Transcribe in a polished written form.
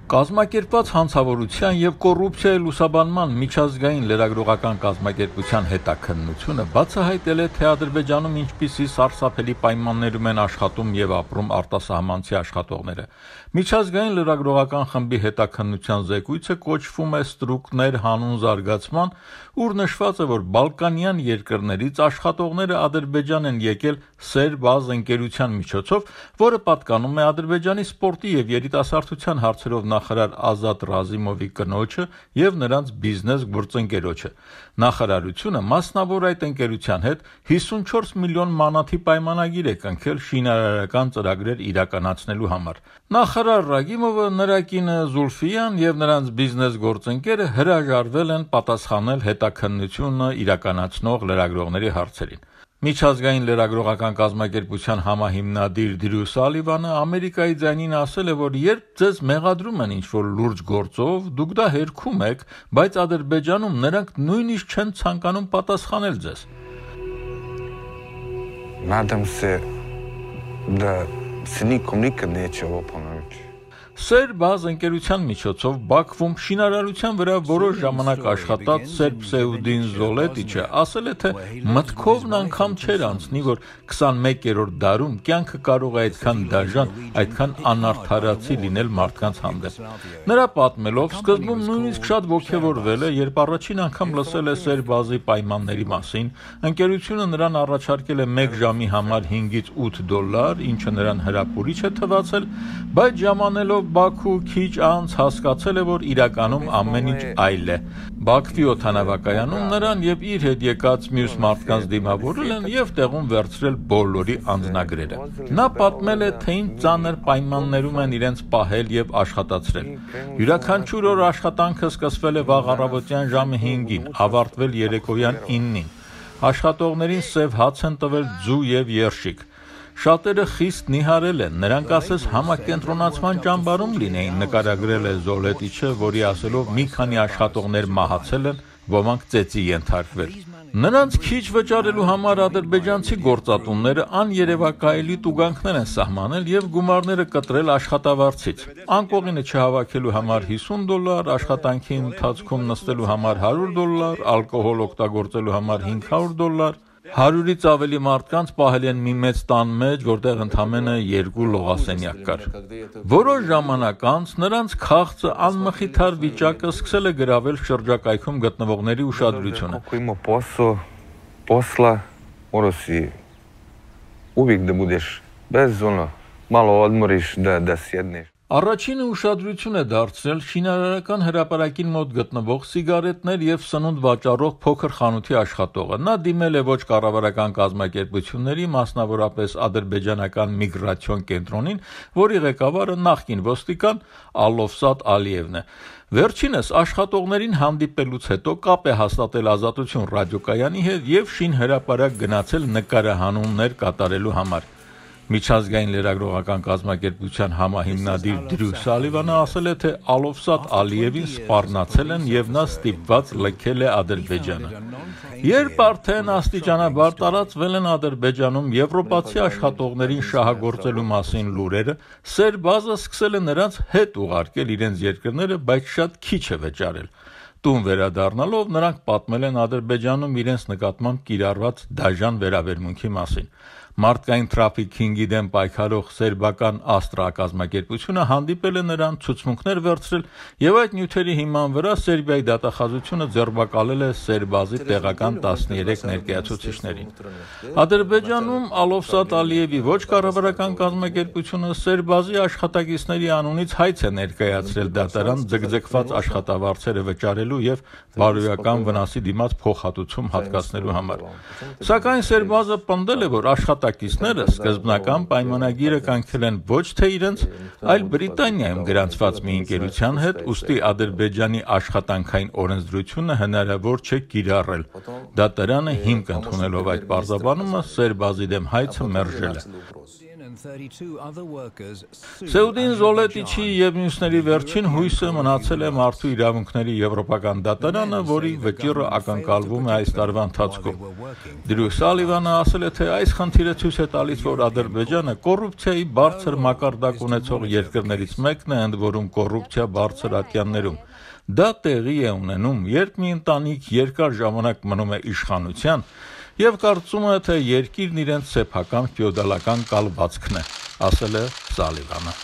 Կազմակերպված հանցավորության և կոռուպցիայի լուսաբանման միջազգային լրագրողական կազմակերպության հետաքննությունը բացահայտել է, թե Ադրբեջանում ինչպիսի սարսափելի պայմաններում են աշխատում և ապրում արտասահմանցի աշխատողները։ Միջազգային լրագրողական խմբի հետաքննության զեկույցը կոչվում է «Ստրուկներ հանուն զարգացման», ուր նշված է, որ բալկանյան երկրներից աշխատողները Ադրբեջան են եկել «Սերբազ» ընկերության միջոցով, որը պատկանում է Ադրբեջանի սպորտի և երիտասարդության հարցերով նախարար Ազատ Ռազիմովի կնոջը և նրանց բիզնես գործընկերոջը։ Նախարարությունը մասնավոր այդ ընկերության հետ 54 միլիոն մանաթի պայմանագիր է կնքել շինարարական ծրագրեր իրականացնելու համար։ Նախարար Ռագիմովը, նրա կինը Զուլֆիան և նրանց բիզնես գործընկերը հրաժարվել են պատասխանել հետաքննությունը իրականացնող լրագրողների հարցերին։ Միջազգային լրագրողական կազմակերպության համահիմնադիր Դրյու Սալիվանը Ամերիկայի ձայնին ասել է, որ երբ ձեզ մեղադրում են ինչ-որ լուրջ գործով, դուք դա հերքում եք, բայց Ադրբեջանում նրանք նույնիսկ չեն ցանկանում պատասխանել ձեզ։ «Սերբազ» ընկերության միջոցով Բաքվում շինարարության վրա որոշ ժամանակ աշխատած Սերբ Սեուդին Զոլետիչը ասել է, թե մտքովն անգամ չէր անցնի, որ 21-րդ դարում կյանքը կարող է այդքան դաժան, այդքան անարդարացի լինել մարդկանց հանդեպ։ Նրա պատմելով, սկզբում նույնիսկ շատ ոգևորվել է, երբ առաջին անգամ լսել է Սերբազի պայմանների մասին, ընկերությունը նրան առաջարկել է 1 ժամի համար $5-8, ինչը նրան հրապուրիչ է թվացել, բայց ժամանելով Բաքու քիչ անց հասկացել է, որ իրականում ամեն ինչ այլ է։ Բաքվի օդանավակայանում նրան և իր հետ եկած մյուս մարդկանց դիմավորել են և տեղում վերցրել բոլորի անձնագրերը։ Նա պատմել է, թե ինչ ծանր պայմաններում են իրենց պահել և աշխատացրել։ Յուրաքանչյուր օր աշխատանքը սկսվել է վաղ առավոտյան ժամը 5-ին, ավարտվել երեկոյան 9-ին։ Աշխատողներին սև հաց են տվել, ձու և երշիկ։ Շատերը խիստ նիհարել են, նրանք ասես համակենտրոնացման ճամբարում լինեին, նկարագրել է Զոլետիչը, որի ասելով մի քանի աշխատողներ մահացել են, ոմանք ծեծի ենթարկվել։ Նրանց քիչ վճարելու համար ադրբեջանցի գործատուները աներևակայելի տուգանքներ են սահմանել և գումարները կտրել աշխատավարձից։ Անկողինը չհավաքելու համար $50, աշխատանքի ընթացքում նստելու համար $100, ալկոհոլ օգտագործելու համար $500, 100-ից ավելի մարդկանց պահել են մի մեծ տան մեջ, որտեղ ընդամենը 2 լողասենյակ կար։ Որոշ ժամանակ անց նրանց քաղցը անմխիթար վիճակը սկսել է գրավել շրջակայքում գտնվողների ուշադրությունը։ Առաջինը ուշադրություն է դարձրել շինարարական հրապարակին մոտ գտնվող սիգարետներ և սնունդ վաճառող փոքր խանութի աշխատողը։ Նա դիմել է ոչ կառավարական կազմակերպությունների, մասնավորապես ադրբեջանական միգրացիոն կենտրոնին, որի ղեկավարը նախկին ոստիկան Ալովսատ Ալիևն է։ Վերջինս աշխատողներին հանդիպելուց հետո կապ է հաստատել Ազատություն ռադիոկայանի հետ և շինհրապարակ գնացել նկարահանումներ կատարելու համար։ Միջազգային լրագրողական կազմակերպության համահիմնադիր Դրյու Սալիվանը ասել է, թե Ալովսատ Ալիևին սպառնացել են և նա ստիպված լքել է Ադրբեջանը։ Երբ արդեն աստիճանաբար տարածվել են Ադրբեջանում եվրոպացի աշխատողներին շահագործելու մասին լուրերը, Սերբազը սկսել է նրանց հետ ուղարկել իրենց երկրները, բայց շատ քիչ է վճարել։ Տուն վերադառնալով նրանք պատմել են Ադրբեջանում իրենց նկատմամբ կիրառված դաժան վերաբերմունքի մասին։ Մարդկային թրաֆիքինգի դեմ պայքարող սերբական Աստրա կազմակերպությունը հանդիպել է նրան, ցուցմունքներ վերցրել և այդ նյութերի հիման վրա Սերբիայի դատախազությունը ձերբակալել է Սերբազի տեղական 13 ներկայացուցիչներին։ Ադրբեջանում Ալովսատ Ալիևի ոչ կառավարական կազմակերպությունը Սերբազի աշխատակիցների անունից հայց է ներկայացրել դատարան ձգձգված աշխատավարձերը վճարելու և բարոյական վնասի դիմաց փոխհատուցում հատկացնելու համար։ Սակայն Սերբազը պնդել է, որ աշխատակիցները սկզբնական պայմանագիրը կնքել են ոչ թե իրենց, այլ Բրիտանիայում գրանցված մի ընկերության հետ, ուստի Ադրբեջանի աշխատանքային օրենսդրությունը հնարավոր չէ կիրառել։ Դատարանը հիմք ընդունելով այդ պարզաբանումը Սերբազի դեմ հայցը մերժել է։ Սեուդին Զոլետիչի եւ մյուսների վերջին հույսը մնացել է մարդու իրավունքների եվրոպական դատարանը, որի վճիռը ակնկալվում է այս տարվա ընթացքում։ Դրյու Սալիվանը ասել է, թե այս խնդիրը ցույց է տալիս, որ Ադրբեջանը կոռուպցիայի բարձր մակարդակ ունեցող երկրներից մեկն է, ընդ որում կոռուպցիա բարձր ատյաններում։ Դա տեղի է ունենում, երբ մի ընտանիք երկար ժամանակ մնում է իշխանության եւ կարծում է, թե երկիրն իրենց սեփական ֆեոդալական կալվածքն է, ասել է Սալիվանը։